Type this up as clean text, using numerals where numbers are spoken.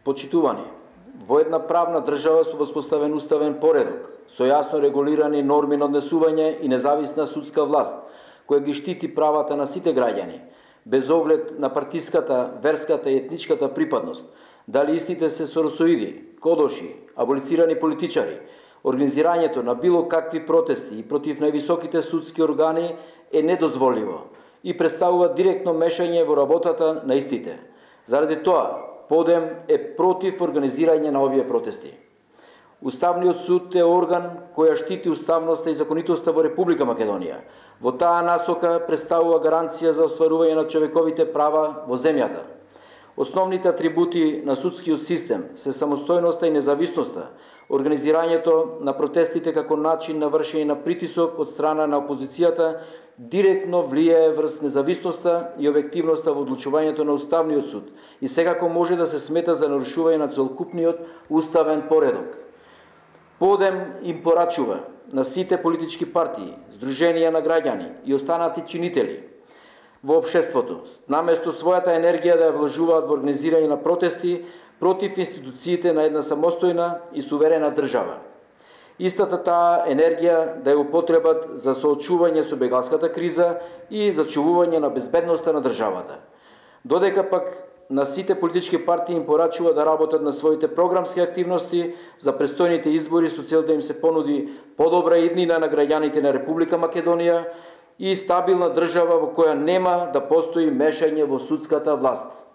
Почитувани, во една правна држава со воспоставен уставен поредок, со јасно регулирани норми на однесување и независна судска власт, која ги штити правата на сите граѓани, без оглед на партиската, верската и етничката припадност, дали истите се соросоиди, кодоши, аболицирани политичари, организирањето на било какви протести и против највисоките судски органи е недозволиво и представува директно мешање во работата на истите. Заради тоа, ПОДЕМ е против организирање на овие протести. Уставниот суд е орган која штити уставноста и законитоста во Република Македонија. Во таа насока представува гаранција за остварување на човековите права во земјата. Основните атрибути на судскиот систем се самостојноста и независноста, организирањето на протестите како начин на вршење на притисок од страна на опозицијата директно влијае врз независноста и објективноста во одлучувањето на Уставниот суд и секако може да се смета за нарушување на целокупниот уставен поредок. ПОДЕМ им порачува на сите политички партии, здруженија на граѓани и останати чинители во општеството, наместо својата енергија да ја вложуваат во организирање на протести против институциите на една самостојна и суверена држава. Истата таа енергија да ја употребат за соочување со бегалската криза и зачувување на безбедноста на државата. Додека пак на сите политички партии им порачува да работат на своите програмски активности за престојните избори со цел да им се понуди подобра иднина на граѓаните на Република Македонија и стабилна држава во која нема да постои мешање во судската власт.